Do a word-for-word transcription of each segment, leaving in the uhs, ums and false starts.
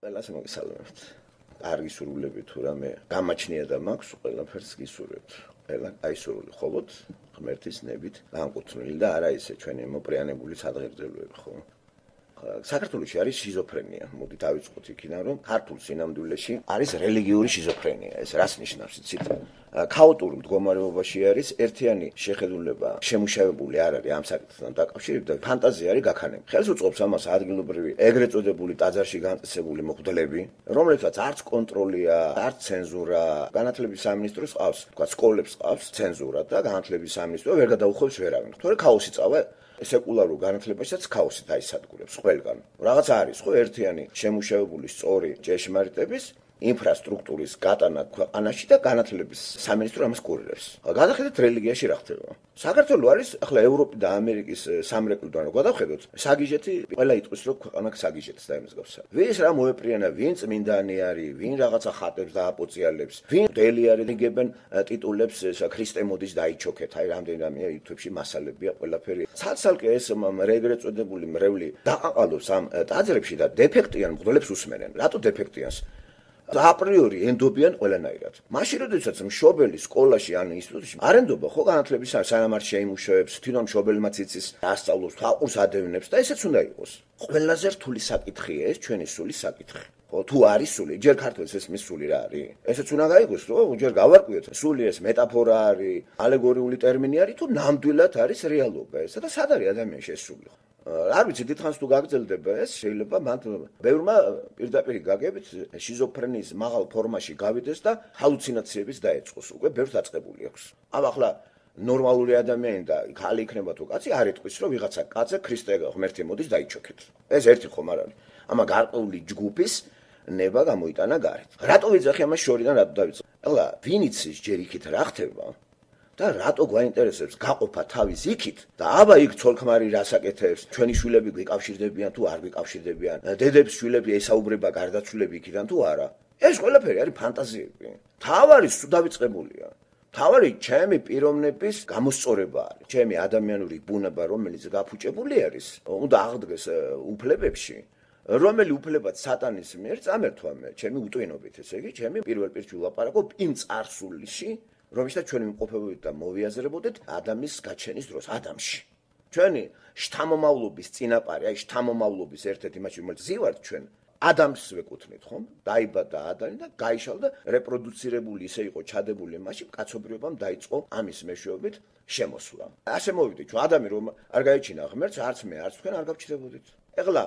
ყველას მოგესალმებთ. კარგი სურვილები თუ რამე გამაჩნია და მაქვს, ყველაფერს გისურვებთ. ყველა კაი სურვილი მხოლოდ ღმერთის ნებით განკუთვნილი და არა ისე ჩვენი მოპრიანებული სადღეგრძელოები, ხო? საქართველოში არის შიზოფრენია. მოდი დავიწყოთ იქიდან, რომ ქართულ სინამდვილეში არის რელიგიური შიზოფრენია. ეს რას ნიშნავს იცით? ქაოტურ მდგომარეობაში არის ერთიანი შეხედულება შემუშავებული არ არის ამ საკითხთან დაკავშირებით და ფანტაზია არის გაქანები. ხელს უწყობს ამას ადგილობრივი ეგრეთ წოდებული ტაძარში განწესებული მოხდლები, რომლებსაც არც კონტროლია, არც ცენზურა, განათლების სამინისტროს ყავს, თქვა სკოლებს ყავს ცენზურა და განათლების სამინისტრო ვერ გადაუხვევს ვერავინ. თორე ქაოსი წავა სეკულარულ განათლებაშიც ქაოსი დაისადგურებს ყველგან. რაღაც არის ხო ერთიანი შემუშავებული სწორი ჭეშმარიტების ინფრასტრუქტურის გატანა ქვეყანაში და განათლების სამინისტრო ამას კურირებს. გადახედეთ რელიგიაში რა ხდება. საქართველო არის ახლა ევროპის და ამერიკის სამრეკლოდან რო გადავხედოთ, საგიჟეთი ყველა იტყვის რომ ქვეყანა საგიჟეთს და იმის გავსა. ვინც რა მოეპრიანა, ვინ წმინდანი არის, ვინ რაღაცა ხატებს და აპოციალებს, ვინ დელი არის იგებენ ტიტულებს, ესა ქრისტე მოდის დაიჩოქეთ, აი რამდენი რამეა YouTube-ში მასალებია ყველაფერი. ცალ-ცალკე ეს ეგრეთ წოდებული მრევლი დაყაყალობს ამ ტაძრებში და დეფექტიან მღვდლებს უსმენენ. რატო დეფექტიანს? აპრიორი ენდობიან ყველანაირად. მაშინ როდესაც მშობელი სკოლაში ან ინსტიტუტში არ ენდობა ხო განათლების სანამ არ შეიმუშავებს, თვითონ მშობელმაც იცის, ასწავლოს, თაყურს ადევნებს და ესეც უნდა იყოს. ყველაზე რთული საკითხია ეს ჩვენი სულის საკითხი. ხო, თუ არის სული, ჯერ ქართველს ეს მის სული რა არის? ესეც უნდა გაიგოს, რომ ჯერ გავარკვიოთ, სული ეს მეტაფორა არის, ალეგორიული ტერმინი არის თუ ნამდვილად არის რეალობა ესა და სად არის ადამიანში ეს სული? არ ვიცი, დიდხანს თუ გაგრძელდება ეს, შეიძლება მან ბევრმა პირდაპირ გაგებით შიზოფრენიის მაღალ ფორმაში გავიდეს და ჰალუცინაციების დაეწყოს. უკვე ბევრს დაწყებული აქვს. ამ ახლა ნორმალური ადამიანი და ხალი იქნება თუ კაცი არ იტყვის, რომ ვიღაცა კაცზე ქრისტე ღმერთი მოდის დაიჩოქეთ. ეს ერთი ხომ არ არის. ამა გარკვეული ჯგუფის ნება გამოიტანა გარეთ. რატო ვიძახი ამას შორიდან რატო დავიწყე? ახლა ვინ იცის ჯერ იქით რა ხდება? და რატო გვაინტერესებს გაყოფა თავის იქით და აბა იქ ცოლ-ქმარი რას აკეთებს, ჩვენი შვილები გვიკავშირდებიან თუ არ გვიკავშირდებიან, დედებს შვილები ესაუბრება გარდაცვლილები იქიდან თუ არა. ეს ყველაფერი არის ფანტაზიები. თავარი სულ დავიწყებულია. თავარი ჩემი პიროვნების გამოსწორება არის. ჩემი ადამიანური ბუნება, რომელიც გაფუჭებული არის, უნდა აღდგეს უფლებებში, რომელი უფლებაც სატანის მიერ წამერთვა მე, ჩემი უტვინობით, ესე იგი, ჩემი პირველ პირში ვლაპარაკობ იმ წარსულში, რომელშიც ჩვენი მყოფობებით და მოვიაზრებოდეთ ადამიანის გაჩენის დროს ადამიანში. ჩვენი შთამომავლობის წინაპარი, აი შთამომავლობის ერთ-ერთი მასში, რომელიც ზივართ ჩვენ ადამიანს ვეკუთვნით, ხომ? დაიბადა ადამიანი და გაიშალდა რეპროდუცირებული ისე იყო ჩადებული მასში, კაცობრიობამ დაიწყო ამის მეშვეობით შემოსვლა. ასე მოვიდით, ჩვენ ადამიანი რომ არ გაიჩინა ღმერთს, არც მე, არც თქვენ არ გავჩნდებოდით. ეხლა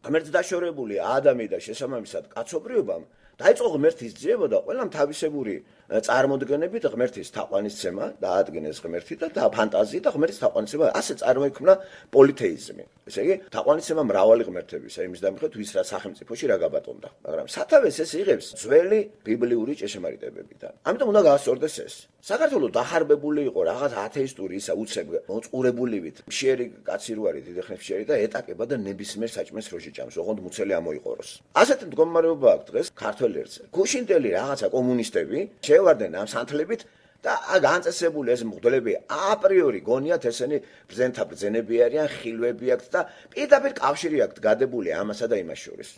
ღმერთს დაშორებული ადამიანი და შესაბამისად კაცობრიობამ დაიწყო ღმერთის ძიება და ყველამ თავისებური წარმოდგენებით ღმერთის თაყვანისცემა დაადგინეს ღმერთი და ფანტაზია და ღმერთის თაყვანისცემა ასე წარმოიქმნა პოლითეიზმი. ესე იგი, თაყვანისცემა მრავალი ღმერთებისა, იმის დამხეთ ვის რა სახელმწიფოში რა გაბატონდა. მაგრამ სათავეს ეს იღებს ძველი ბიბლიური ჭეშმარიტებებიდან. ამიტომ უნდა გაასწორდეს ეს. საქართველოს დახარბებული იყო რაღაც ათეისტური ისა უცებ მოწყურებულივით. მშიერი კაცი რო არის დიდი ხნის მშიერი და ეტაკება და ნებისმიერ საჭმელს როში ჭამს, ოღონდ მუცელი ამოიყოროს. ასეთი მდგომარეობა აქვს დღეს ქართველ ერთზე. გუშინდელი რაღაცა კომუნისტები შევარდნენ ამ სანთლებით და განწესებული ეს მღვდლები აპრიორი გონიათ ესენი ბრძენთა ბრძენები არიან, ხილვები აქვთ და პირდაპირ კავშირი აქვთ გადებული ამასა და იმას შორის.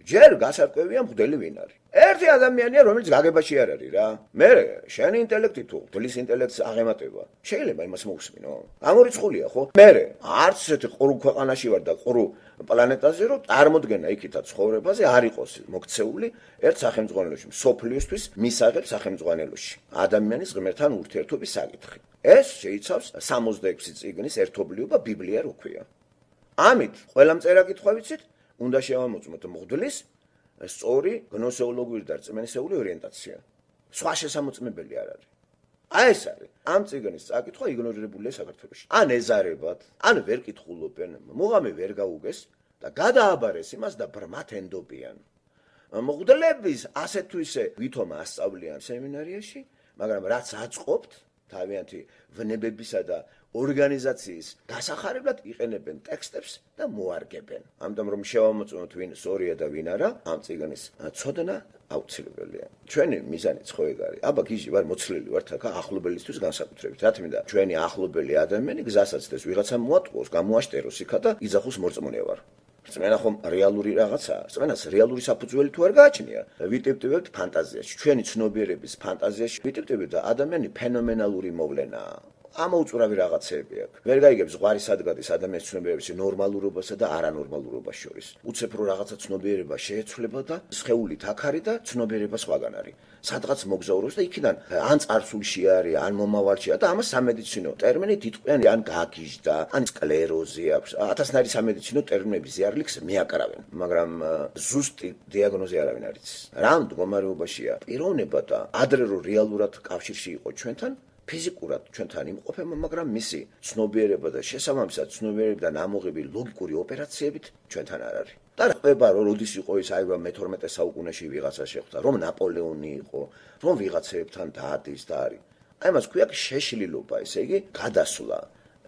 ჯერ გასარკვევია მღვდელი ვინ არის. ერთი ადამიანია, რომელიც გაგებაში არ არის რა. მე შენი ინტელექტი თუ მღვდლის ინტელექტს აღემატება, შეიძლება იმას მოусმინო. გამორიცხულია ხო? მე არც ესეთი ყრუ ქვეყანაში ვარ და ყრუ პლანეტაზე რომ წარმოდგენა იქითა ცხოვრებაზე არ იყოს მოქცეული ერთ სახელმძღვანელოში, სოფლიოსთვის მისაღებ სახელმძღვანელოში. ადამიანის ღმერთთან ურთიერთობის საკითხი. ეს შეიცავს სამოცდაექვსი წიგნის ერთობლიობა ბიბლია რო ქვია. ამით ყველა მწერა კითხვა ვიცით, უნდა შევამოწმოთ მღვდლის სწორი გნოსეოლოგიური და რწმენისეული ორიენტაცია. სხვა შესამოწმებელი არ არის. აი ეს არის. ამ წიგნის წაკითხვა იგნორირებულია საქართველოში. ან ეზარებათ, ან ვერ კითხულობენ, მუღამი ვერ გაუგეს და გადააბარეს იმას და ბრმათ ენდობიან. მღვდლების ასე თუ ისე ვითომ ასწავლიან სემინარიაში, მაგრამ რაც აწყობთ თავიანთი ვნებებისა და ორგანიზაციის გასახარებლად იყენებენ ტექსტებს და მოარგებენ. ამიტომ რომ შევამოწმოთ ვინ სწორია და ვინ არა, ამ წიგნის ცოდნა აუცილებელია. ჩვენი მიზანიც ხო ეგ არის. აბა გიჟი ვარ მოცლილი ვართ აქ ახლობელისთვის განსაკუთრებით. რა თქმა უნდა, ჩვენი ახლობელი ადამიანი გზასაც ეს ვიღაცა მოატყუოს, გამოაშტეროს იქა და იძახოს მორწმუნე ვარ. რწმენა ხომ რეალური რაღაცაა. რწმენას რეალური საფუძველი თუ არ გააჩნია, ვიტიპტივებთ ფანტაზიაში. ჩვენი ცნობიერების ფანტაზიაში ვიტიპტივებთ და ადამიანი ფენომენალური მოვლენაა. ამოუწურავი რაღაცეები აქვს. ვერ გაიგებს ზღვარი სადგადის ადამიანის ცნობიერების ნორმალურობასა და არანორმალურობას შორის. უცებ რო რაღაცა ცნობიერება შეეცვლება და სხეულით აქ არის და ცნობიერება სხვაგან არის. სადღაც მოგზაურობს და იქიდან ან წარსულში არის, ან მომავალშია და ამას სამედიცინო ტერმინით იტყვიან, ან გაგიჟდა, ან სკლეროზი აქვს. ათასნაირი სამედიცინო ტერმინები ზიარლიქს მიაკრავენ, მაგრამ ზუსტი დიაგნოზი არავინ არ იცის. რა მდგომარეობაშია პიროვნება და ადრე რო რეალურად კავშირში იყო ჩვენთან ფიზიკურად ჩვენთან იმყოფება, მაგრამ მისი ცნობიერება და შესაბამისად ცნობიერებიდან ამოღები ლოგიკური ოპერაციებით ჩვენთან არ არის. და ხდება რომ როდის იყო ის აი მეთორმეტე საუკუნეში ვიღაცა შეხვდა, რომ ნაპოლეონი იყო, რომ ვიღაცებთან დაადის და არის. აი მას ქვია შეშლილობა, ესე იგი გადასვლა,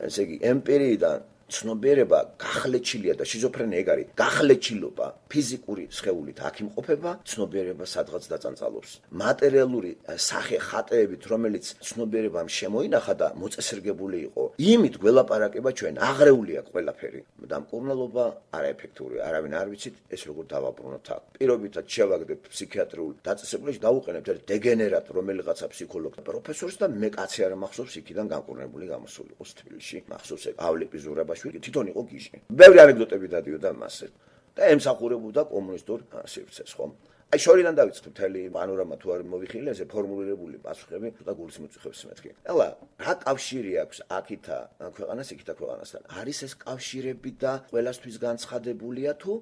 ესე იგი ემპირიიდან ცნობიერება გახლეჩილია და შიზოფრენია ეგ არის გახლეჩილობა ფიზიკური სხეულით აქ იმყოფება ცნობიერება სადღაც დაწანწალობს მატერიალური სახე ხატეებით რომელიც ცნობიერებამ შემოინახა და მოწესრიგებული იყო იმით გველაპარაკება ჩვენ აღრეულია ყველაფერი და მკურნალობა არაეფექტურია არავინ არ ვიცით ეს როგორ დავაბრუნოთ აქ პირობითად შევაგდებ ფსიქიატრიულ დაწესებულებაში დავუყენებთ ერთ დეგენერატ რომელიღაცა ფსიქოლოგ პროფესორს და მე კაცი არ მახსოვს იქიდან განკურნებული გამოსული იყოს თბილისში მახსოვს ავლიპი ზურაბა თვითონ იყო გიჟი. ბევრი ანეკდოტები დადიოდა მასზე. და ემსახურებოდა კომუნისტურ სივრცეს, ხომ? აი შორიდან დავიწყებ მთელი პანორამა თუ არ მოვიხილე, ესე ფორმულირებული პასუხები და გულის მიწუხებს მეთქი. ეხლა რა კავშირი აქვს აქითა ქვეყანას იქითა ქვეყანასთან? არის ეს კავშირები და ყველასთვის განცხადებულია თუ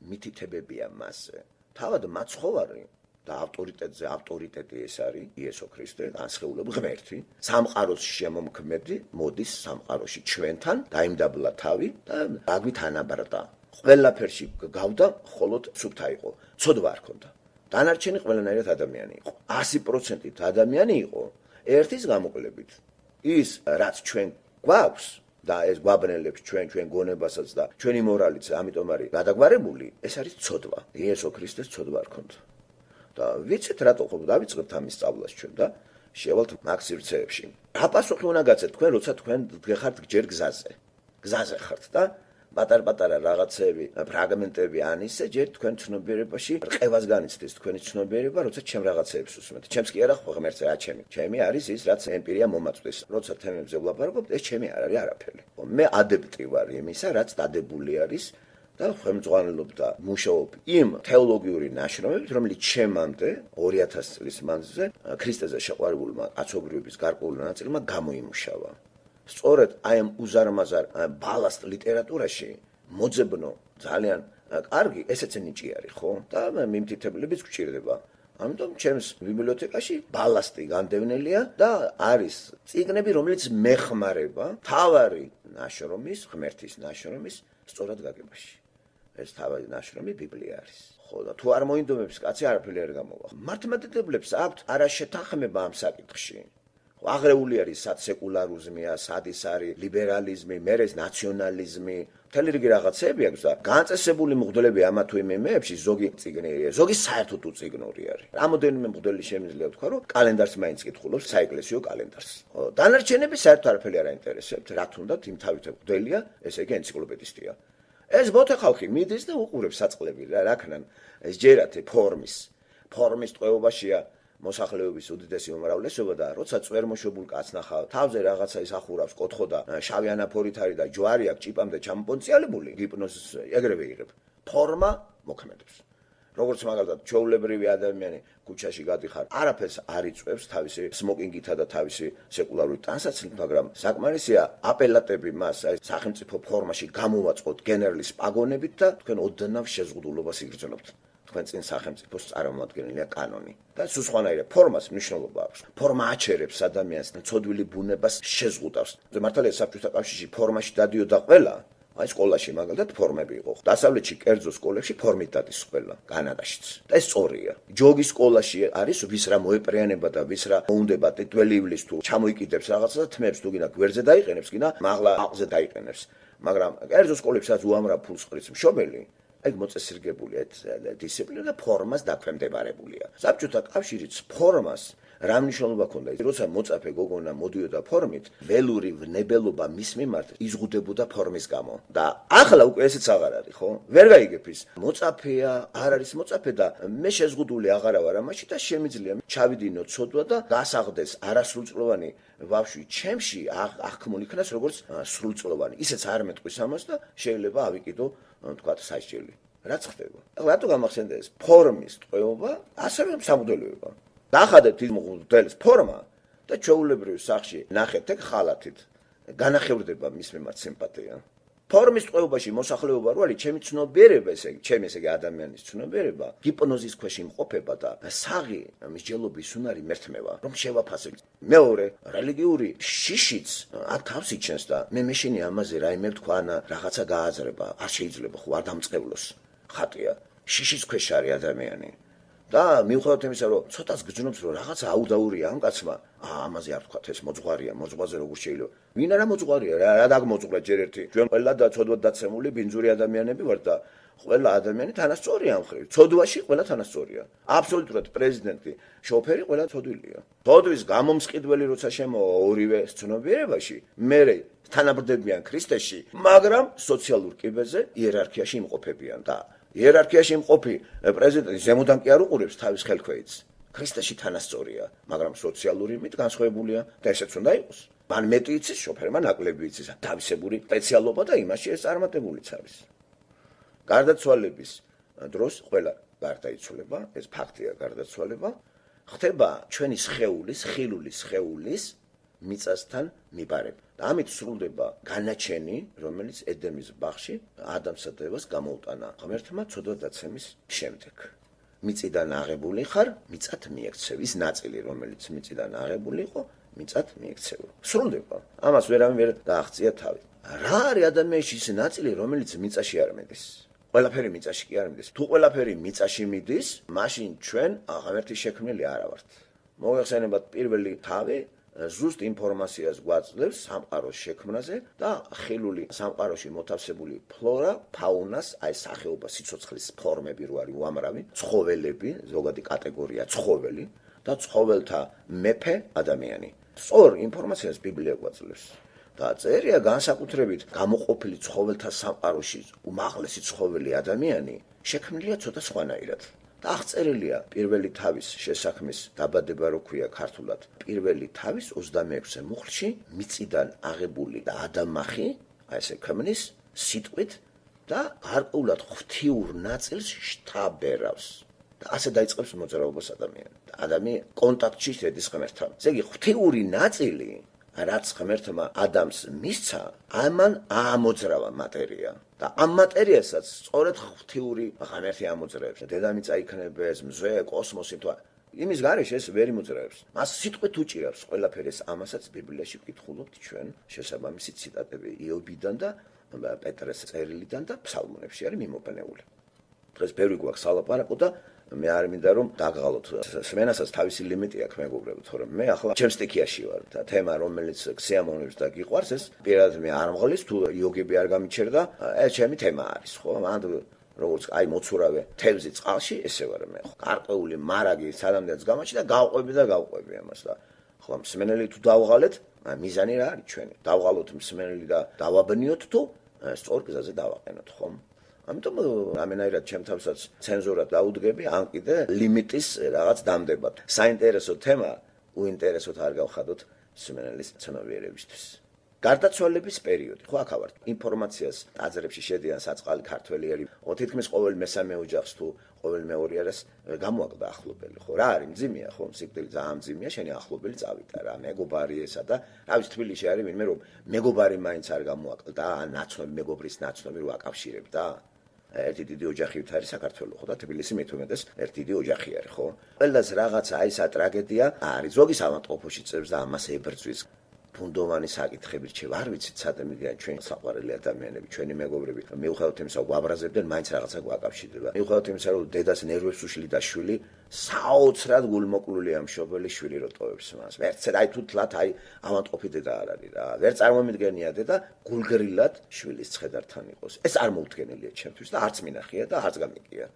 მითითებებია მასზე? თავად მაცხოვარი და ავტორიტეტზე ავტორიტეტი ეს არის იესო ქრისტე, განსხეულები ღმერთი, სამყაროს შემომქმედი, მოდის სამყაროში ჩვენთან, დაიმდაბლა თავი და აგვით ანაბრდა. ყველაფერში გავდა, მხოლოდ სუფთა იყო, ცოდვა არ ქონდა. დანარჩენი ყველანაირად ადამიანი იყო. ასი პროცენტით ადამიანი იყო, ერთის გამოკლებით. ის რაც ჩვენ გვაქვს და ეს გვაბნელებს ჩვენ ჩვენ გონებასაც და ჩვენი მორალიც, ამიტომ არის გადაგვარებული, ეს არის ცოდვა. იესო ქრისტეს ცოდვა არ ქონდა. და ვიცით რატო ხო დავიწყებთ ამის სწავლას ჩვენ და შევალთ მაგ სივრცეებში. რა პასუხი უნდა გაცეთ თქვენ, როცა თქვენ გეხართ ჯერ გზაზე. გზაზე ხართ და პატარ-პატარა რაღაცები, ფრაგმენტები ან ისე ჯერ თქვენ ცნობიერებაში რყევას განიცდით თქვენი ცნობიერება, როცა ჩემ რაღაცეებს უსმენთ. ჩემს კი არა ხო ღმერთზე რა ჩემი. ჩემი არის ის, რაც ემპირია მომაწვდის. როცა თემებზე ვლაპარაკობ, ეს ჩემი არ არის არაფერი. მე ადებტი ვარ იმისა, რაც დადებული არის და ხელმძღვანელობ და მუშაობ იმ თეოლოგიური ნაშრომებით, რომელიც ჩემამდე ორი ათასი წლის მანძილზე ქრისტეზე შეყვარებულმა კაცობრიობის გარკვეული ნაწილმა გამოიმუშავა. სწორედ აი ამ უზარმაზარ ბალასტ ლიტერატურაში მოძებნო ძალიან კარგი ესეც ნიჭი არის, ხო? და მიმთითებლებიც გვჭირდება. ამიტომ ჩემს ბიბლიოთეკაში ბალასტი განდევნელია და არის წიგნები, რომელიც მეხმარება თავარი ნაშრომის, ღმერთის ნაშრომის სწორად გაგებაში. ეს თავარი ნაშრომი ბიბლია არის. ხო და თუ არ მოინდომებს კაცი არაფერი არ გამოვა. მართლმადიდებლებს აქვთ არაშეთანხმება ამ საკითხში. აღრეული არის სად სეკულარიზმია, სად ის არის ლიბერალიზმი, მერე ნაციონალიზმი, მთელი რიგი რაღაცეები აქვს და განწესებული მღვდლები ამა თუ იმ იმეებში ზოგი წიგნია, ზოგი საერთოდ უწიგნური არის. რამოდენიმე მღვდელი შემიძლია თქვა, რომ კალენდარს მაინც კითხულობს, საეკლესიო კალენდარს. დანარჩენები საერთოდ არაფერი არ აინტერესებთ, რა თუნდაც იმ თავით მღვდელია, ესე იგი ენციკლოპედისტია. ეს ბოთე ხალხი მიდის და უყურებს საწყლები რა, რაქნან ეს ჯერათი ფორმის, ფორმის ტყვეობაშია მოსახლეობის უდიდესი უმრავლესობა და როცა წვერმოშობულ კაცს ნახავ, თავზე რაღაცა ის ახურავს, კოთხო და შავი ანაფორით არის და ჯვარი აქვს ჭიპამდე ჩამოპონციალებული, ჰიპნოზის ეგრევე იღებ. ფორმა მოქმედებს. როგორც მაგალითად, ჩვეულებრივი ადამიანი ქუჩაში გადიხარ, არაფერს არ იწვევს თავისი სმოკინგითა და თავისი სეკულარული ტანსაცმლით, მაგრამ საკმარისია აპელატები მას აი სახელმწიფო ფორმაში გამოვაწყოთ გენერლის პაგონებით და თქვენ ოდნავ შეზღუდულობას იგრძნობთ. თქვენ წინ სახელმწიფოს წარმომადგენელია კანონი და სულ სხვანაირად ფორმას მნიშვნელობა აქვს. ფორმა აჩერებს ადამიანს ცოდვილი ბუნებას შეზღუდავს. მართალია საბჭოთა კავშირში ფორმაში დადიოდა ყველა, აი სკოლაში მაგალითად ფორმები იყო. დასავლეთში კერძო სკოლებში ფორმით დადის ყველა, განადაშიც. და ეს სწორია. ჯოგის სკოლაში არის ვის რა მოეპრიანება და ვის რა მოუნდება ტიტველი ივლის თუ ჩამოიკიდებს რაღაცა და თმებს თუ გინდა გვერდზე დაიყენებს, გინდა მაღლა აყზე დაიყენებს. მაგრამ კერძო სკოლებსაც უამრავ ფულს ყრიც მშობელი ეგ მოწესრიგებული ეს დისციპლინა და ფორმას დაქვემდებარებულია. საბჭოთა კავშირიც ფორმას რა მნიშვნელობა ქონდა ის როცა მოწაფე გოგონა მოდიოდა ფორმით ველური ვნებელობა მის მიმართ იზღუდებოდა ფორმის გამო და ახლა უკვე ესეც აღარ არის ხო ვერ გაიგებ ის მოწაფეა არ არის მოწაფე და მე შეზღუდული აღარ ვარ ამაში და შემიძლია ჩავიდინო ცოდვა და გასაღდეს არასრულწლოვანი ბავშვი ჩემში აღქმულ იქნას როგორც სრულწლოვანი ისეც არ მეტყვის ამას და შეიძლება ავიკიდო თქვათ სასჯელი რაც ხდება ახლა რატო გამახსენდა ეს ფორმის ტყვეობა ასევე სამღვდელოება დახადეთ ის მღვდლის ფორმა და ჩვეულებრივ სახში ნახეთ ეგ ხალათით განახევრდება მის მიმართ სიმპათია ფორმის ტყვეობაში მოსახლეობა რო არის ჩემი ცნობიერება ესე ჩემი ესე ადამიანის ცნობიერება ჰიპნოზის ქვეშ იმყოფება და საღი მსჯელობის უნარი მერთმევა რომ შევაფასებ მეორე რელიგიური შიშიც აქ თავს იჩენს და მე მეშინი ამაზე რაიმე თქვა ან რაღაცა გააზრება არ შეიძლება ხო არ დამწყევლოს ხატია შიშის ქვეშ არის ადამიანი და მიუხედავად იმისა რომ ცოტას გძნობს რომ რაღაცა აუდაურია ამ კაცმა ამაზე არ თქვათ ეს მოძღვარია მოძღვაზე როგორ შეიძლება ვინ არა მოძღვარია რა დაგმოძღვრა ჯერ ერთი ჩვენ ყველა და ცოდვად დაცემული ბინძური ადამიანები ვართ და ყველა ადამიანი თანასწორია ამ ხრივ ცოდვაში ყველა თანასწორია აბსოლუტურად პრეზიდენტი შოფერი ყველა ცოდვილია ცოდვის გამომსყიდველი როცა შემოვა ორივე ცნობიერებაში მე თანაბრდებიან ქრისტეში მაგრამ სოციალურ კიბეზე იერარქიაში იმყოფებიან და იერარქიაში იმყოფი პრეზიდენტი ზემოდან კი არ უყურებს თავის ხელქვეითს ქრისტეში თანასწორია მაგრამ სოციალური მით განსხვავებულია და ესეც უნდა იყოს მან მეტი იცის შოფერმა ნაკლები იცის თავისებური სპეციალობა და იმაში ეს წარმატებულიც არის გარდაცვალების დროს ყველა გარდაიცვალება ეს ფაქტია გარდაცვალება ხდება ჩვენი სხეულის ხილული სხეულის მიწასთან მიბარება და ამით სრულდება განაჩენი რომელიც ედემის ბაღში ადამსა და ევას გამოუტანა ღმერთმა ცოდვადაცემის შემდეგ მიწიდან აღებული ხარ მიწად მიექცევ ის ნაწილი რომელიც მიწიდან აღებული იყო მიწად მიექცევა სრულდება ამას ვერავინ ვერ დააღწია თავი რა არის ადამიანში ის ნაწილი რომელიც მიწაში არ მიდის ყველაფერი მიწაში კი არ მიდის თუ ყველაფერი მიწაში მიდის მაშინ ჩვენ ღმერთის შექმნილი არა ვართ მოიხსენებათ პირველი თავი ზუსტ ინფორმაციას გვაძლევს სამყაროს შექმნაზე და ხილული სამყაროში მოთავსებული ფლორა, ფაუნას, აი სახეობა სიცოცხლის ფორმები რო არის უამრავი, ცხოველები, ზოგადი კატეგორია ცხოველი და ცხოველთა მეფე ადამიანი. სწორ ინფორმაციას ბიბლია გვაძლევს. და წერია განსაკუთრებით გამოყოფილი ცხოველთა სამყაროში უმაღლესი ცხოველი ადამიანი შექმნილია ცოტა სხვანაირად. და აღწერილია პირველი თავის შესაქმის დაბადება რო ქვია ქართულად პირველი თავის ოცდამეექვსე მუხლში მიწიდან აღებული და ადამახი აი ესე ქმნის სიტყვით და გარკვეულად ღვთიურ ნაწილს შთაბერავს და ასე დაიწყებს მოძრაობას ადამიანი და ადამიანი კონტაქტში შედის ღმერთთან ესე იგი ღვთიური ნაწილი რაც ღმერთმა ადამს მისცა ამან აამოძრავა მატერია და ამ მატერიასაც სწორედ ღვთიური ღმერთი ამოძრავებს დედამიწა იქნებეს მზე კოსმოსი თუ იმის გარეშე ეს ვერ იმოძრავებს მას სიტყვით უჭირავს ყველაფერი ეს ამასაც ბიბლიაში ვკითხულობთ ჩვენ შესაბამისი ციტატები იობიდან და პეტრეს წერილიდან და ფსალმუნებში არის მიმობნეული დღეს ბევრი გვაქვს სალაპარაკო და მე არ მინდა რომ დაგღალოთ სმენასაც თავისი ლიმიტი აქვს მეგობრებო თორემ მე ახლა ჩემს სტიქიაში ვარ და თემა რომელიც ქსიამოვნებს და გიყვარს ეს პირადად მე არ მღლის თუ იოგები არ გამიჩერდა ეს ჩემი თემა არის ხო მანდ როგორც აი მოცურავე თევზი წყალში ესე ვარ მე ხო გარკვეული მარაგი სანამდეც გამაჩი და გავყვები და გავყვები ამას და ხო მსმენელი თუ დავღალეთ მიზანი რა არის ჩვენი დავღალოთ მსმენელი და დავაბნიოთ თუ სწორ გზაზე დავაყენოთ ხო ამიტომ ამენაირად ჩემ თავსაც ცენზურად დაუდგები ან კიდე ლიმიტის რაღაც დამდებად. საინტერესო თემა უინტერესოდ არ გავხადოთ მსმენელის ცნობიერებისთვის. გარდაცვალების პერიოდი, ხო აქ ვართ. ინფორმაციას აზრებში შედიან საწყალი ქართველიერი, თითქმის ყოველ მესამე ოჯახს თუ ყოველ მეორე არას გამოაკლდა ახლობელი, ხო რა არის მძიმეა, ხო სიკვდილი ძალიან მძიმეა, შენი ახლობელი წავიდა რა, მეგობარი ესა და რა ვიცი თბილისში არის ვინმე რომ მეგობარი მაინც არ გამოაკლდა, ან ნაცნობი მეგობრის ნაცნობი რო აკავშირებდა. ერთი დიდი ოჯახით არის საქართველო ხო და თბილისი მეთუმეტეს ერთი დიდი ოჯახი არის ხო ყველას რაღაცა აი ეს ტრაგედია არის ზოგი სამანტყოფოში წევს და ამას ებრძვის ფუნდოვანი საკითხები რჩევ არ ვიცით სადემიდან ჩვენ საყვარელი ადამიანები ჩვენი მეგობრები მიუხედავად იმისა გვაბრაზებდნენ მაინც რაღაცა გვაკავშირდება მიუხედავად იმისა რომ დედას ნერვებს უშლიდა შვილი საოცრად გულმოკლულია მშობელი შვილი რო ტოვებს მას ვერც აი თუ თლათ აი ავანტყოფი დედა არ არის რა ვერ წარმომიდგენია დედა გულგრილად შვილის ცხედართან იყოს ეს არ მოუდგენელია ჩემთვის და არც მინახია და არც გამიგია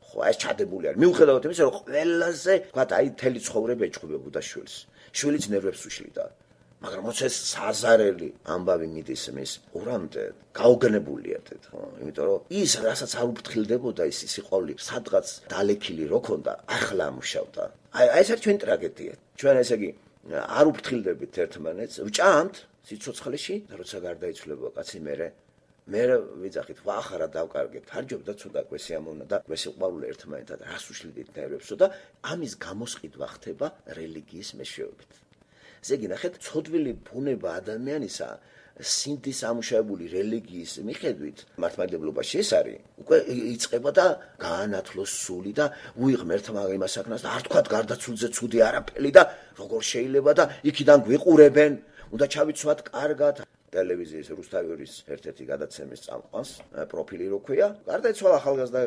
ხო, ეს ჩადებული არის. მიუხედავად იმისა, რომ ყველაზე, ვთქვათ, აი მთელი ცხოვრება ეჩხუბებოდა შვილს. შვილიც ნერვებს უშლიდა. მაგრამ როცა ეს საზარელი ამბავი მიდის მის ურამდე, გაუგნებულია თეთ, ხო? იმიტომ რომ ის, რასაც არ უფრთხილდებოდა ის სიყვარული, სადღაც დალექილი რო ქონდა, ახლა ამუშავდა. აი, ეს არის ჩვენი ტრაგედია. ჩვენ ესე იგი არ უფრთხილდებით ერთმანეთს, ვჭამთ სიცოცხლეში და როცა გარდაიცვლება კაცი მერე მე ვიძახით, ვახარა დავკარგეთ, ფარჯობდა ცოტა კვესიამოვნა და კვესიყვარული ერთმანეთად რას უშლიდით ნერვებსო და ამის გამოსყიდვა ხდება რელიგიის მეშვეობით. ესე იგი, ნახეთ, ცოდვილი ბუნება ადამიანისა სინდის ამუშავებული რელიგიის მიხედვით მართლმადიდებლობაში ეს არის, უკვე იწყება და გაანათლოს სული და უიღმერთმა იმას აქნას და არ თქვათ გარდაცვლზე ცუდი არაფერი და როგორ შეიძლება და იქიდან გვიყურებენ, უნდა ჩავიცვათ კარგად. ტელევიზიის რუსთავის ერთ-ერთი გადაცემის წამყვანს პროფილი რო ქვია, გარდაიცვალა ახალგაზრდა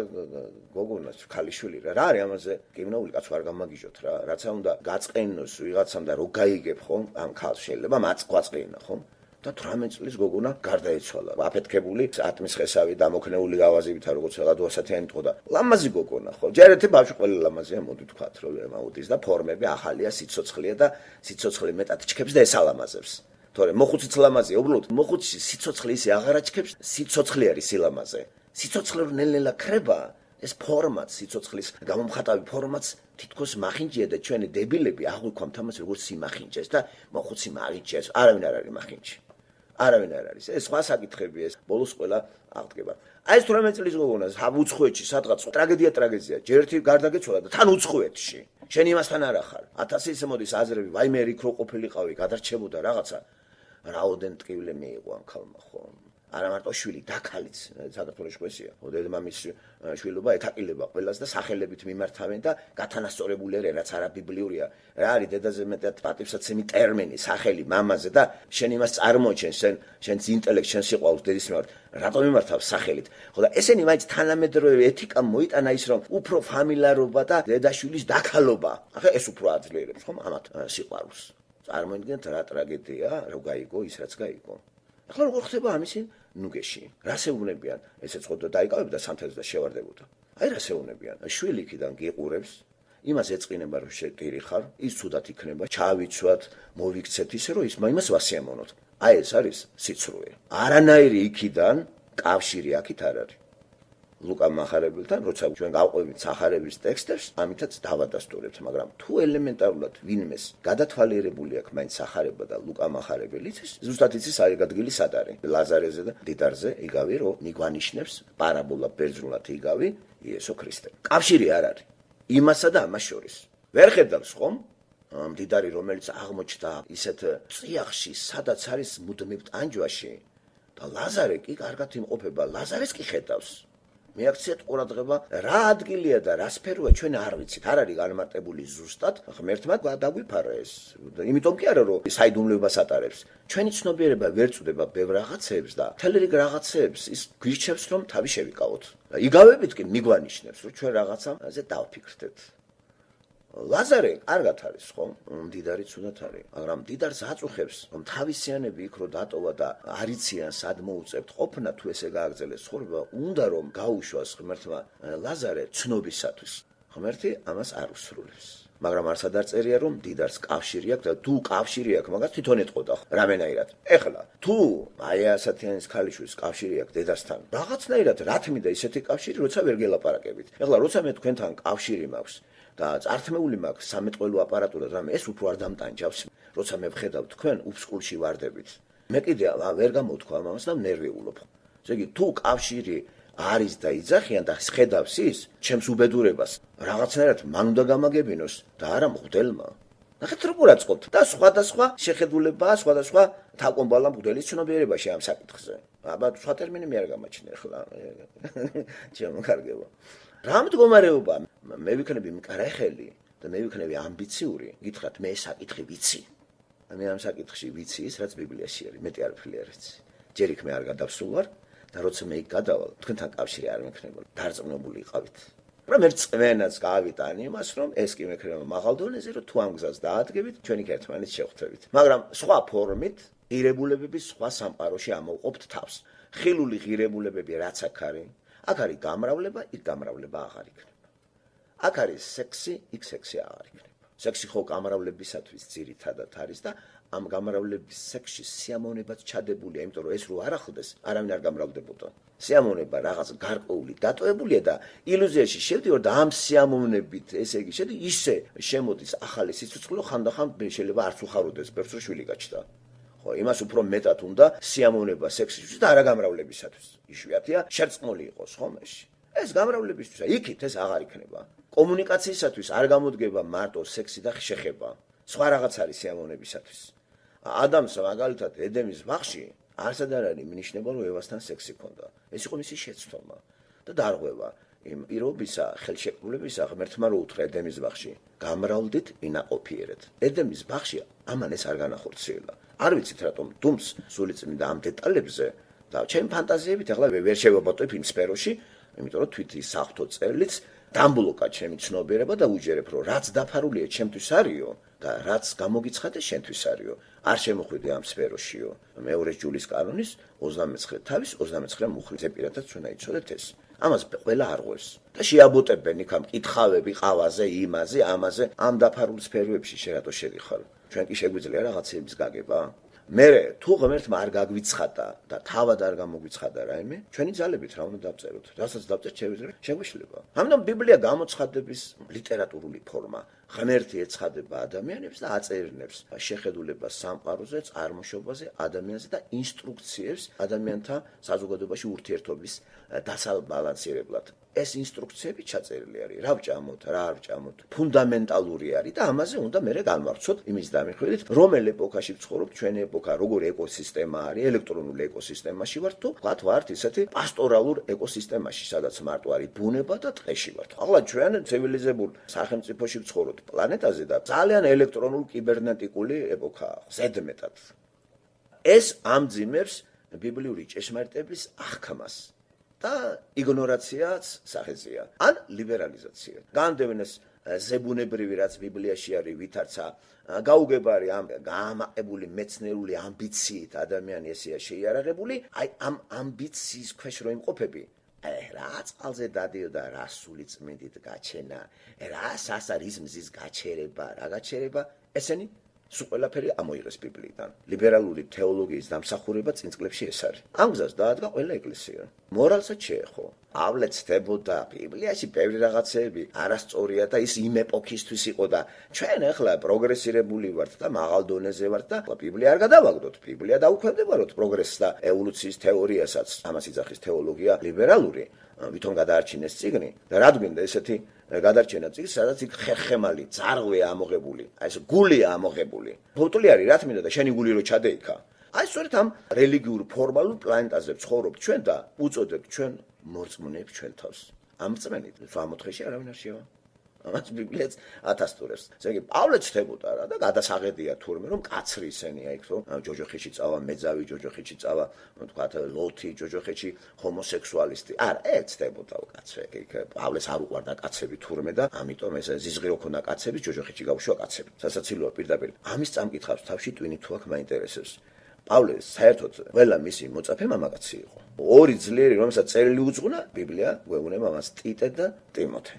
გოგონა, ქალიშვილი რა. რა არის ამაზე? კრიმინალური კაცო არ გამაგიჟოთ რა. რაცა უნდა გაწყენოს ვიღაცამ და რო გაიგებ ხომ, ამ ქალს შეიძლება მაწყვაწყენა ხომ? და თვრამეტ წლის გოგონა გარდაიცვალა. აფეთქებული, ატმის ხესავი დამოქნეული გავაზივითა, როგორც რაღაც დუასათიანი იყო და ლამაზი გოგონა ხო? ჯერ ერთი ბავშვი ყველა ლამაზია, მოდი თქვათ, რომ აუდის და ფორმები ახალია, სიცოცხლეა და სიცოცხლე მეტად ჩქებს და ესალამაზებს. თორე მოხუციც ლამაზია, უბრალოდ მოხუცი სიცოცხლე ისე აღარ აჩქებს, სიცოცხლე არის სილამაზე. სიცოცხლე რო ნელ-ნელა ქრება, ეს ფორმაც, სიცოცხლის გამომხატავი ფორმაც თითქოს მახინჯია და ჩვენი დებილები აღვიქვამთ ამას როგორც სიმახინჯეს და მოხუცი მაღინჯეს, არავინ არ არის მახინჯი. არავინ არ არის. ეს სხვა საკითხებია, ეს ბოლოს ყველა აღდგება. აი ეს თვრამეტ წლის გოგონას უცხოეთში სადღაც ტრაგედია ტრაგედია, ჯერ ერთი გარდაგეცვალა და თან უცხოეთში. შენ იმასთან არ ახარ. ათასი ისე მოდის აზრები, ვაიმე იქ რო ყოფილიყავი, გადარჩებოდა რაღაცა. რაოდენ ტკივლე მიიღო ამ ქალმა ხო? არა მარტო შვილი, დაქალიც საქართველოს კვესია. დედმამის შვილობა ეთაკილება ყველას და სახელებით მიმართავენ და გათანასწორებული არის, რაც არა ბიბლიურია. რა არის დედაზე მეტად პატივსაცემი ტერმინი, სახელი მამაზე და შენ იმას წარმოჩენ, შენ შენს ინტელექტს, შენ სიყვარულს დედის მიმართ, რატომ მიმართავს სახელით? ხო და ესენი მაინც თანამედროვე ეთიკა მოიტანა ის რომ უფრო ფამილარობა და დედაშვილის დაქალობა. ახლა ეს უფრო აძლიერებს ხომ ამათ სიყვარულს. წარმოიდგინეთ რა ტრაგედია, რო გაიგო ის რაც გაიგო. ახლა როგორ ხდება ამისი ნუგეში? რას ეუბნებიან? ესეც ხო დაიკავებდა სამთელს და შევარდებოდა. აი რას ეუბნებიან? შვილი იქიდან გიყურებს, იმას ეწყინება რომ შეტირი ხარ, ის ცუდად იქნება, ჩავიცვათ, მოვიქცეთ ისე რომ ის იმას ვასიამოვნოთ. აი ეს არის სიცრუე. არანაირი იქიდან კავშირი აქით არ არის. ლუკა მახარებელთან, როცა ჩვენ გავყვებით სახარების ტექსტებს, ამითაც დავადასტურებთ, მაგრამ თუ ელემენტარულად ვინმეს გადათვალიერებული აქვს მაინც სახარება და ლუკა მახარებელიც, ზუსტად იცის არის ადგილი სად არის. ლაზარეზე და დიდარზე იგავი რომ მიგვანიშნებს პარაბოლა ბერძნულად იგავი იესო ქრისტე. კავშირი არ არის იმასა და ამას შორის. ვერ ხედავს ხომ? დიდარი რომელიც აღმოჩნდა ისეთ წიაღში, სადაც არის მუდმივ ტანჯვაში და ლაზარე კი კარგად იმყოფება, ლაზარეს კი ხედავს. მიაქციათ ყურადღება რა ადგილია და რა სფეროა ჩვენ არ ვიცით, არ არის განმარტებული ზუსტად, ღმერთმა დაგვიფარა ეს. იმიტომ კი არა რომ საიდუმლოებას ატარებს. ჩვენი ცნობიერება ვერ წვდება ბევრ რაღაცებს და მთელი რიგ რაღაცებს ის გვირჩევს რომ თავი შევიკავოთ. იგავებით კი მიგვანიშნებს რომ ჩვენ რაღაცაზე დავფიქრდეთ. ლაზარე კარგად არის ხო? მდიდარი ცუდად არის, მაგრამ მდიდარს აწუხებს რომ თავისიანები იქ რო დატოვა და არიციან სად მოუწევთ ყოფნა თუ ესე გააგრძელეს ცხოვრება, უნდა რომ გაუშვას ღმერთმა ლაზარე ცნობისათვის. ღმერთი ამას არ უსრულებს. მაგრამ არსად არ წერია რომ მდიდარს კავშირი აქვს და თუ კავშირი აქვს, მაგას თვითონ ეტყოდა რამენაირად. ეხლა თუ აი ასათიანის ქალიშვილის კავშირი აქვს დედასთან, რაღაცნაირად რა თმიდა ისეთი კავშირი, როცა ვერ გელაპარაკებით. ეხლა როცა მე თქვენთან კავშირი მაქვს და წართმეული მაქვს სამეთყველო აპარატურა, რამე ეს უფრო არ დამტანჯავს, როცა მე ვხედავ თქვენ უფსკულში ვარდებით. მე კიდე ვერ გამოვთქვა ამას და ნერვიულობ. ესე იგი, თუ კავშირი არის და იძახიან და ხედავს ის ჩემს უბედურებას, რაღაცნაირად მან უნდა გამაგებინოს და არა მღვდელმა. ნახეთ როგორ აწყობთ და სხვადასხვა შეხედულებაა, სხვადასხვა თაკომბალა მღვდელის ცნობიერებაში ამ საკითხზე. აბა სხვა ტერმინი მე არ გამაჩნია ახლა. ჩემო რა მდგომარეობა? მე ვიქნები მკრეხელი და მე ვიქნები ამბიციური, გითხრათ მე ეს საკითხი ვიცი. მე ამ საკითხში ვიცი ის, რაც ბიბლიაში არის, მეტი არაფერი არ ვიცი. ჯერ იქ მე არ გადავსულ ვარ და როცა მე იქ გადავალ, თქვენთან კავშირი არ მექნებოდა. დარწმუნებული იყავით. მაგრამ ერთ წმენაც გავიტან იმას, რომ ეს კი მექნება მაღალ დონეზე, რომ თუ ამ გზას დაადგებით, ჩვენი ერთმანეთს შევხვდებით. მაგრამ სხვა ფორმით ღირებულებების სხვა სამყაროში ამოვყოფთ თავს. ხილული ღირებულებები რაც აქ არის, აქ არის გამრავლება, იქ გამრავლება აღარ იქნება. აქ არის სექსი, იქ სექსი აღარ იქნება. სექსი ხო გამრავლებისათვის ძირითადად არის და ამ გამრავლების სექსში სიამოვნებაც ჩადებულია, იმიტომ რომ ეს რო არ ახლდეს, არავინ არ გამრავლდებოდა. სიამოვნება რაღაც გარკვეული დატოვებულია და ილუზიაში შევდივარ და ამ სიამოვნებით, ესე იგი, შედი ისე შემოდის ახალი სიცოცხლე, ხანდახან შეიძლება არც უხაროდეს, ბევრს რო შვილი გაჩნდა. ხო, იმას უფრო მეტად უნდა სიამოვნება სექსისთვის და არა გამრავლებისათვის. იშვიათია შერწყმული იყოს ხომეში. ეს გამრავლებისთვის, იქით ეს აღარ იქნება. კომუნიკაციისათვის არ გამოდგება მარტო სექსი და შეხება. სხვა რაღაც არის სიამოვნებისათვის. ადამიანს მაგალითად ედემის ბაღში არსად არ არის მინიშნება რომ ევასთან სექსი ქონდა. ეს იყო მისი შეცდომა და დარღვევა იმ პირობისა, ხელშეკრულებისა ღმერთმა რო უთხრა ედემის ბაღში, გამრავლდით ვინაყოფიერეთ. ედემის ბაღში ამან ეს არ განახორციელა. არ ვიცით რატომ დუმს სულიწმინდა ამ დეტალებზე და ჩემი ფანტაზიებით ახლა ვერ შევაბატონებ იმ სფეროში, იმიტომ რომ თვით ის საფრთხო წერილიც დამბლოკა ჩემი ცნობიერება და უჯერებ რომ რაც დაფარულია ჩემთვის არისო და რაც გამოგიცხადეს შენთვის არისო. არ შემოხვიდე ამ სფეროშიო. მეორე ჯულის კანონის ოცდამეცხრე თავის ოცდამეცხრე მუხლი პირადად ჩვენ აიცოდეთ ეს. ამას ყველა არღვევს და შეაბუტებენ იქამ კითხავები ყავაზე, იმაზე, ამაზე, ამ დაფარულ სფეროებში შენ რატო შედიხარ? ჩვენ კი შეგვიძლია რაღაცების გაგება? მერე თუ ღმერთმა არ გაგვიცხადა და თავად არ გამოგვიცხადა რაიმე, ჩვენი ძალებით რა უნდა დავწეროთ? რასაც დავწერთ შეგვეშლება. ამიტომ ბიბლია გამოცხადების ლიტერატურული ფორმა. ღმერთი ეცხადება ადამიანებს და აწერინებს შეხედულებას სამყაროზე, წარმოშობაზე, ადამიანზე და ინსტრუქციებს ადამიანთა საზოგადოებაში ურთიერთობის დასაბალანსირებლად. ეს ინსტრუქციები ჩაწერილი არის. რა ვჭამოთ, რა არ ვჭამოთ, ფუნდამენტალური არის და ამაზე უნდა მერე განვარცხოთ იმის დამიხვედით, რომელ ეპოქაში ვცხოვრობთ, ჩვენი ეპოქა როგორ ეკოსისტემა არის, ელექტრონულ ეკოსისტემაში ვართ თუ ვთქვათ ვართ ისეთი პასტორალურ ეკოსისტემაში, სადაც მარტო არის ბუნება და ტყეში ვართ. ახლა ჩვენ ცივილიზებულ სახელმწიფოში ვცხოვრობთ პლანეტაზე და ძალიან ელექტრონულ კიბერნეტიკული ეპოქაა, ზედმეტად. ეს ამძიმებს ბიბლიური ჭეშმარიტების აღქმას. და იგნორაციაც სახეზეა, ან ლიბერალიზაცია. განდევნეს ზებუნებრივი რაც ბიბლიაში არის ვითარცა, გაუგებარი ამ გაამაყებული მეცნიერული ამბიციით ადამიანი ესეა შეიარაღებული, აი ამ ამბიციის ქვეშ რო იმყოფები, აი რა წყალზე დადიოდა რა სული წმინდით გაჩენა, რა სასარის მზის გაჩერება, რა გაჩერება, ესენი სულ ყველაფერი ამოიღეს ბიბლიიდან. ლიბერალური თეოლოგიის დამსახურება წინ წლებში ეს არის. ამ გზას დაადგა ყველა ეკლესია. მორალსაც შეეხო. პავლე ცდებოდა ბიბლიაში ბევრი რაღაცეები არასწორია და ის იმ ეპოქისთვის იყო და ჩვენ ახლა პროგრესირებული ვართ და მაღალ დონეზე ვართ და ბიბლია არ გადავაგდოთ. ბიბლია დაუქვემდებაროთ პროგრესს და ევოლუციის თეორიასაც. ამას იძახის თეოლოგია ლიბერალური. ვითომ გადაარჩინეს წიგნი და რა გვინდა ესეთი გადარჩენა წიგნი, სადაც იქ ხერხემალი, ძარღვია ამოღებული, აი ეს გულია ამოღებული. ფოტოლი არის რა თქმა უნდა და შენი გული რო ჩადეიქა. აი სწორედ ამ რელიგიურ ფორმალურ პლანეტაზე ვცხოვრობთ ჩვენ და უწოდებთ ჩვენ მორწმუნეებს ჩვენ თავს. ამ წმენით სამოთხეში არავინ არ შევა. ამას ბიბლიაც ათასტურებს. ესე იგი პავლე ცდებოდა რა და გადასაღედია თურმე რომ კაცრი ისენია იქ რომ ჯოჯოხეთში წავა მეძავი, ჯოჯოხეთში წავა თქვათ ლოთი, ჯოჯოხეთში ჰომოსექსუალისტი. არა, ეგ ცდებოდა კაცრი. იქ პავლეს არ უყვარდა კაცები თურმე და ამიტომ ეს ზიზღი რო ქონდა კაცები, ჯოჯოხეთში გავუშვა კაცები. სასაცილოა პირდაპირ. ამის წამკითხავს თავში ტვინი თუ აქ მაინტერესებს. პავლე საერთოდ ყველა მისი მოწაფე მამაკაცი იყო. ორი ძლიერი რომელსაც წერილი უძღვნა, ბიბლია გვეუბნება მას ტიტე და ტიმოთე.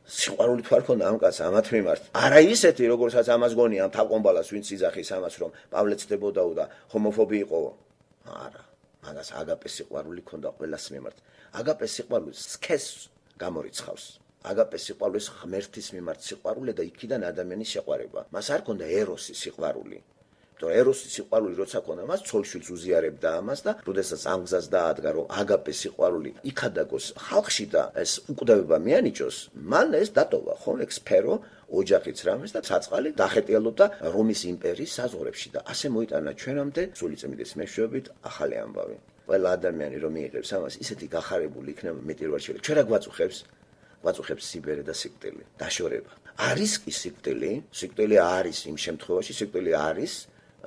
სიყვარული თუ არ ქონდა ამ კაცს ამათ მიმართ. არა ისეთი, როგორცაც ამას გონია ამ თავკომბალას, ვინც იძახის ამას, რომ პავლე ცდებოდაო და ჰომოფობი იყო. არა, მაგას აგაპეს სიყვარული ქონდა ყველას მიმართ. აგაპეს სიყვარული სქესს გამორიცხავს. აგაპეს სიყვარულის ღმერთის მიმართ სიყვარული და იქიდან ადამიანის შეყვარება. მას არ ქონდა ეროსი სიყვარული. то ეროსის სიყვარული როცა ქონდა მას ცოლშვილს უზიარებდა ამას და როდესაც ამ გზას დაადგა რომ აგაპეს სიყვარული იქადაგოს ხალხში და ეს უკვდავება მიანიჭოს, მან ეს დატოვა ხო ეგ სფერო ოჯახიც რამეს და ცაწყალი დახეტიალობდა რომის იმპერიის საზღვრებში და ასე მოიტანა ჩვენამდე სულიწმინდის მეშვეობით ახალი ამბავი. ყველა ადამიანი რომ მიიღებს ამას ისეთი გახარებული იქნება მეტირვარშელი. ჩვენ რა გვაწუხებს? გვაწუხებს სიბერე და სიკვდილი, დაშორება. არის კი სიკვდილი, სიკვდილი არის იმ შემთხვევაში, სიკვდილი არის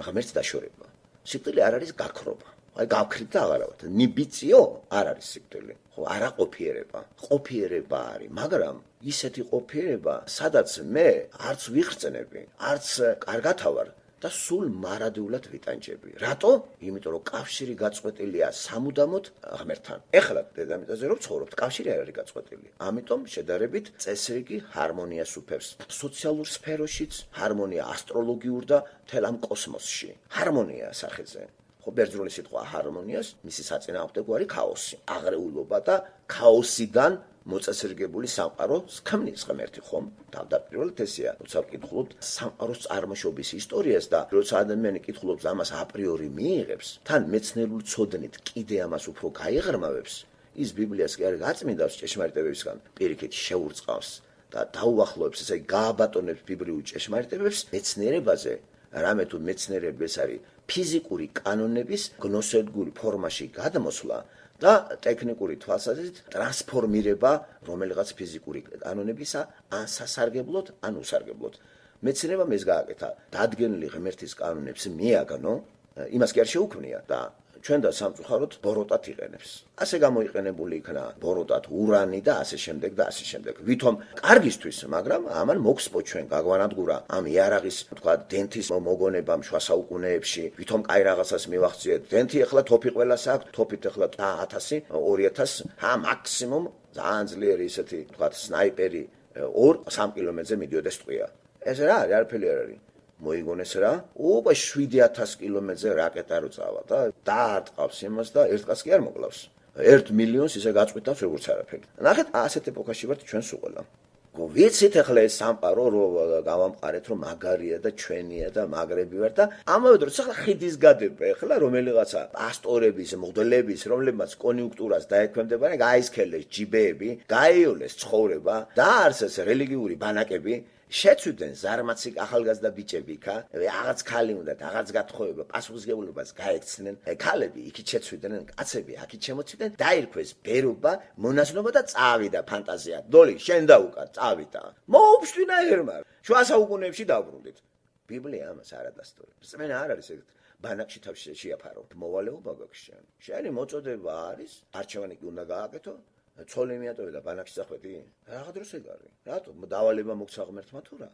ღმერთს დაშორება. სიკვდილი არ არის გაქრობა. აი გავქრით და აღარავთ. ნიბიციო არ არის სიკვდილი. ხო, არა ყოფიერება. ყოფიერება არის, მაგრამ ისეთი ყოფიერება, სადაც მე არც ვიხრწნები, არც კარგათავარ, და სულ მარადეულად ვიტანჯები. რატო? იმიტომ რომ კავშირი გაწყვეტილია სამუდამოდ ღმერთთან. ეხლა დედამიწაზე რომ ცხოვრობთ, კავშირი არ არის გაწყვეტილი. ამიტომ შედარებით წესრიგი ჰარმონიას უფევს. სოციალურ სფეროშიც ჰარმონია, ასტროლოგიურ და მთელ ამ კოსმოსში. ჰარმონია სახეზე. ხო, ბერძნული სიტყვა ჰარმონიას, მისი საწინააღმდეგო არის ქაოსი, აღრეულობა და ქაოსიდან მოწესრიგებული სამყაროს ქმნის ღმერთი, ხომ? თავდაპირველად ესეა. როცა ვკითხულობთ სამყაროს წარმოშობის ისტორიას და როცა ადამიანი კითხულობს ამას აპრიორი მიიღებს, თან მეცნიერული ცოდნით კიდე ამას უფრო გაიღრმავებს, ის ბიბლიას კი არ გაწმინდავს ჭეშმარიტებებისგან, პირიქით შეურწყავს და დაუახლოვებს, ესე იგი გააბატონებს ბიბლიურ ჭეშმარიტებებს მეცნიერებაზე, რამე თუ მეცნიერები ეს არის ფიზიკური კანონების გნოსებგური ფორმაში გადმოსვლა და ტექნიკური თვალსაზრისით ტრანსფორმირება რომელიღაც ფიზიკური კანონებისა ან სასარგებლოდ, ან უსარგებლოდ. მეცნიერებამ ეს გააკეთა, დადგენილი ღმერთის კანონებს მიაგნო, იმას კი არ შეუქმნია და ჩვენ და სამწუხაროდ ბოროტად იყენებს. ასე გამოიყენებული იქნა ბოროტად ურანი და ასე შემდეგ და ასე შემდეგ. ვითომ კარგისთვის, მაგრამ ამან მოგსპო ჩვენ გაგვანადგურა ამ იარაღის, თქვა, დენთის მოგონებამ შუა საუკუნეებში, ვითომ კაი რაღაცას მივახციეთ. დენთი ახლა თოფი ყველას აქვს, თოფით ახლა ათასი, ორი ათასი, ა მაქსიმუმ ძალიან ძლიერი ისეთი, თქვა, სნაიპერი ორ სამ კილომეტრზე მიდიოდეს ტყვია. ეს რა არის, არაფერი არ არის. მოიგონეს რა, უკვე შვიდი ათასი კილომეტრზე რაკეტა რო წავა და დაარტყავს იმას და ერთ კაცს კი არ მოკლავს. ერთ მილიონს ისე გაწყვიტავს როგორც არაფერი. ნახეთ, ასეთ ეპოქაში ვართ ჩვენ სულ ყველა. ვიცით ახლა ეს სამყარო რო გავამყარეთ, რომ მაგარია და ჩვენია და მაგრები ვარ და ამავე დროს ახლა ხიდის გადება ახლა რომელიღაცა პასტორების, მღვდლების, რომლებმაც კონიუნქტურას დაექვემდებარება, გაისქელეს ჯიბეები, გაიოლეს ცხოვრება, დაარსეს რელიგიური ბანაკები. შეცვიდნენ ზარმაცი ახალგაზრდა ბიჭები იქა, რაღაც ქალი უნდა, რაღაც გათხოვება, პასუხისმგებლობას გაექცნენ. ქალები იქით შეცვიდნენ, კაცები აქით შემოცვიდნენ, დაირქვეს ბერობა, მონაზნობა და წავიდა ფანტაზია. დოლი, შენ დაუკა, წავიდა. მოუფშტინა ერმა. შუა საუკუნეებში დაბრუნდით. ბიბლია ამას არ ადასტურებს. წმენა არ არის ეგ ბანაკში თავში შეაფარო. მოვალეობა გაქვს შენ. შენი მოწოდება არის, არჩევანი კი უნდა გააკეთო. ცოლი მიატოვე და ბანაკში წახვედი? რაღა დროს ეგ არის. რატო? დავალება მოგცა ღმერთმა თუ რა?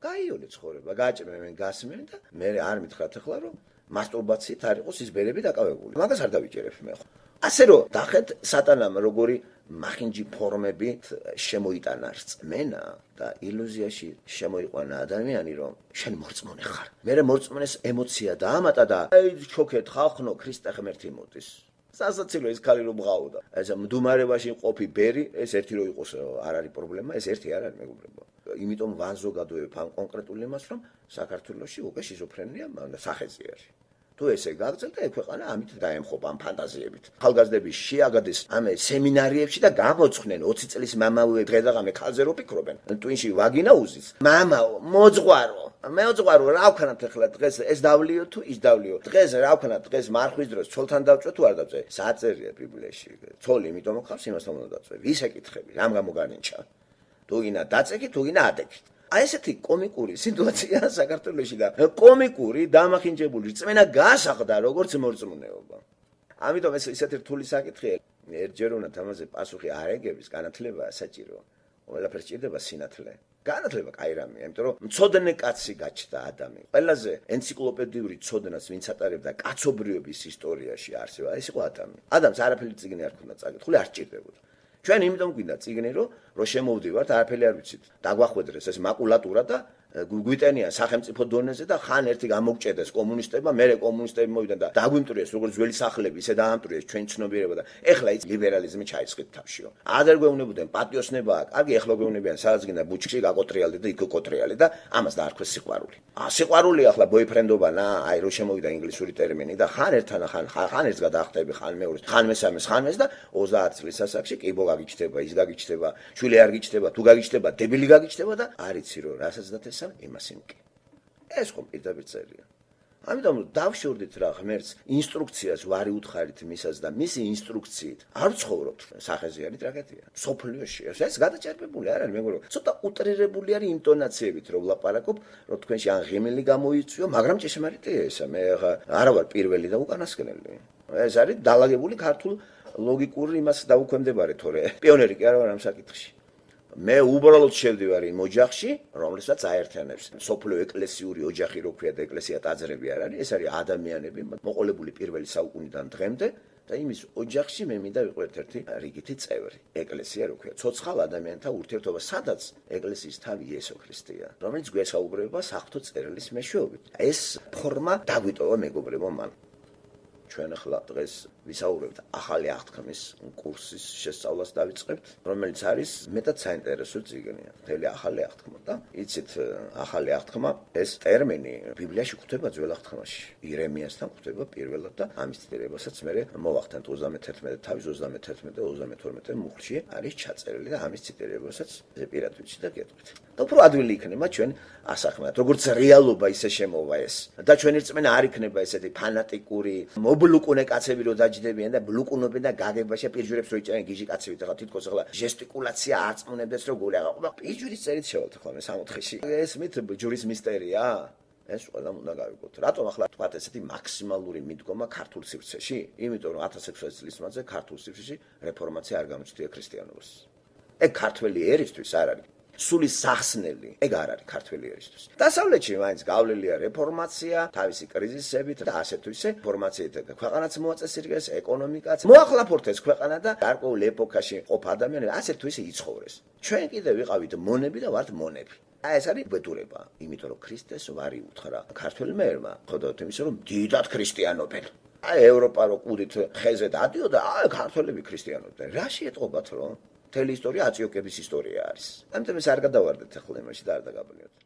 გაიოლე ცხოვრება, გაჭმევენ, გასმენ და მე არ მითხრათ ახლა რომ მასტურბაციით არ იყოს ის ბერები დაკავებული. მაგას არ დავიჭერებ მე ხო. ასე რომ დახეთ სატანამ როგორი მახინჯი ფორმებით შემოიტანა რწმენა და ილუზიაში შემოიყვანა ადამიანი რომ შენ მორწმუნე ხარ. მე მორწმუნეს ემოცია დაამატა და აი ჩოქეთ ხალხნო ქრისტე ღმერთი მოდის. სასაცილო ის ქალი რომ მღაოდა. ეს მდუმარებაში ყოფი ბერი, ეს ერთი რო იყოს არ არის პრობლემა, ეს ერთი არ არის მეგობრებო. იმიტომ ვანზოგადოებ ამ კონკრეტულ იმას, რომ საქართველოში უკვე შიზოფრენია სახეზე არის. თუ ესე გაგრძელდა, ეგ ქვეყანა ამით დაემხობა ამ ფანტაზიებით. ახალგაზრდები შეაგადეს ამ სემინარიებში და გამოცხნენ ოცი წლის მამავე დღე-დღამე ქალზე რო ფიქრობენ. ტვინში ვაგინა უზის. მამაო, მოძღვარო. მე ვწყვარო რა ვქნათ ახლა დღეს ეს დავლიო თუ ის დავლიო. დღეს რა ვქნათ დღეს მარხვის დროს ცოლთან დავწვე თუ არ დავწვე. საწერია ბიბლიაში. ცოლი იმიტომ მოხავს იმასთან უნდა დავწვე. ვის ეკითხები? რამ გამოგანინჩა? თუ გინდა დაწეკი, თუ გინდა ადეკი. აი ესეთი კომიკური სიტუაცია საქართველოში და კომიკური დამახინჯებული რწმენა გასახდა როგორც მორწმუნეობა. ამიტომ ეს ისეთი რთული საკითხია. ერთჯერ უნდა ამაზე პასუხი არ ეგების განათლება საჭირო. ყველაფერს ჭირდება სინათლე. განათლება კაი რამეა, იმიტომ რომ მცოდნე კაცი გაჩნდა ადამი. ყველაზე ენციკლოპედიური ცოდნას ვინც ატარებდა კაცობრიობის ისტორიაში არსება, ეს იყო ადამი. ადამიანს არაფერი წიგნი არ ქონდა წაკითხული, არ სჭირდებოდა. ჩვენ იმიტომ გვინდა წიგნი, რომ რო შემოვდივართ, არაფერი არ ვიცით. დაგვახვედრეს ეს მაკულატურა და გვიტენიან სახელმწიფო დონეზე და ხან ერთი გამოგჭედეს კომუნისტებმა, მერე კომუნისტები მოვიდნენ და დაგვიმტრიეს როგორც ძველი სახლები, ისე დაამტრიეს ჩვენ ცნობიერება და ეხლა ის ლიბერალიზმი ჩაისხით თავშიო. ადრე გვეუბნებოდნენ პატიოსნებაა, კარგი, ეხლა გვეუბნებიან სადაც გინდა ბუჩქში გაკოტრიალდე და იქ კოტრიალე და ამას დაარქვეს სიყვარული. ა სიყვარული ახლა ბოიფრენდობა ნა, აი რო შემოვიდა ინგლისური ტერმინი და ხან ერთთან ხან ხან ერთს გადაახტები, ხან მეორეს, ხან მესამეს, ხან მეს და ოცდაათი წლის ასაკში კი ბო გაგიჩნდება, ის გაგიჩნდება, შვილი არ გიჩნდება, თუ გაგიჩნდება, დებილი გაგიჩნდება და არიცი რო რასაც დათესა იმას იმკი. ეს ხომ პირდაპირ წერია. ამიტომ დავშორდით რა ღმერთს ინსტრუქციას ვარი უთხარით მისას და მისი ინსტრუქციით არ ცხოვრობთ სახეზე არის ტრაგედია. სოფლიოში ეს გადაჭერბებული არ არის მეგობრებო. ცოტა უტრირებული არის ინტონაციებით რომ ვლაპარაკობ, რომ თქვენში ან ღიმილი გამოიწვიო, მაგრამ ჭეშმარიტია ესა. მე არა ვარ პირველი და უკანასკნელი. ეს არის დალაგებული ქართულ ლოგიკურ იმას დაუქვემდებარე თორე. პიონერი კი არა ვარ ამ საკითხში. მე უბრალოდ შევდივარ იმ ოჯახში, რომელსაც აერთიანებს სოფლიო ეკლესიური ოჯახი, რო ქვია და ეკლესია ტაძრები არ არის, ეს არის ადამიანები, მოყოლებული პირველი საუკუნიდან დღემდე და იმის ოჯახში მე მინდა ვიყო ერთ-ერთი რიგითი წევრი. ეკლესია რო ქვია, ცოცხალ ადამიანთა ურთიერთობა, სადაც ეკლესიის თავი იესო ქრისტეა, რომელიც გვესაუბრება საღვთო წერილის მეშვეობით. ეს ფორმა დაგვიტოვა მეგობრებო მან. ჩვენ ახლა დღეს ვისაუბრებთ ახალი აღთქმის კურსის შესწავლას დავიწყებთ, რომელიც არის მეტად საინტერესო წიგნია. მთელი ახალი აღთქმა და იცით, ახალი აღთქმა ეს ტერმინი ბიბლიაში გვხვდება ძველ აღთქმაში. ირემიასთან გვხვდება პირველად და ამის ციტირებასაც მე მოვახდენთ ოცდამეთერთმეტე თავის ოცდამეთერთმეტე და ოცდამეთორმეტე მუხლში არის ჩაწერილი და ამის ციტირებასაც პირად ვიცი და გეტყვით. და უფრო ადვილი იქნება ჩვენ ასახმათ, როგორც რეალობა ისე შემოვა ეს. და ჩვენი რწმენა არ იქნება ესეთი ფანატიკური მობლუკუნე კაცები რო დაჯდებიან და ბლუკუნობენ და გაგებაში პირჯვირებს რო იჭერენ გიჟი კაცები და ხა თითქოს ახლა ჟესტიკულაცია აწმუნებდეს რო გული აღა პირჯვირის წერით შევალთ ახლა მე სამოთხეში ეს მით ჯურის მისტერია ეს ყველა უნდა გავიგოთ რატომ ახლა თქვათ ესეთი მაქსიმალური მიდგომა ქართულ სივრცეში იმიტომ რომ ათას ექვსმეტ წლის მანძილზე ქართულ სივრცეში რეფორმაცია არ გამოჩნდა ქრისტიანობას ეგ ქართველი ერისთვის არ არის სული სახსნელი, ეგ არ არის ქართველი ერისთვის. დასავლეთში მაინც გავლილია რეფორმაცია, თავისი კრიზისებით და ასე თუ ისე რეფორმაციით ქვეყანაც მოაწესრიგეს, ეკონომიკაც. მოახლაფორთ ეს ქვეყანა და გარკვეულ ეპოქაში ყოფ ადამიანები ასე თუ ისე იცხოვრეს. ჩვენ კიდევ ვიყავით მონები და ვართ მონები. აი ეს არის ბედურება, იმიტომ რომ ქრისტეს ვარი უთხრა ქართველმა ერმა, ხედავთ იმის რომ დიდად ქრისტიანობენ. აი ევროპა რო კუდით ხეზე დადიოდა, აი ქართველები ქრისტიანობდნენ. რაში ეტყობათ რომ მთელი ისტორია აწიოკების ისტორია არის. ამიტომ ეს არ გადავარდეთ ახლა იმაში და არ დაგაბნიოთ.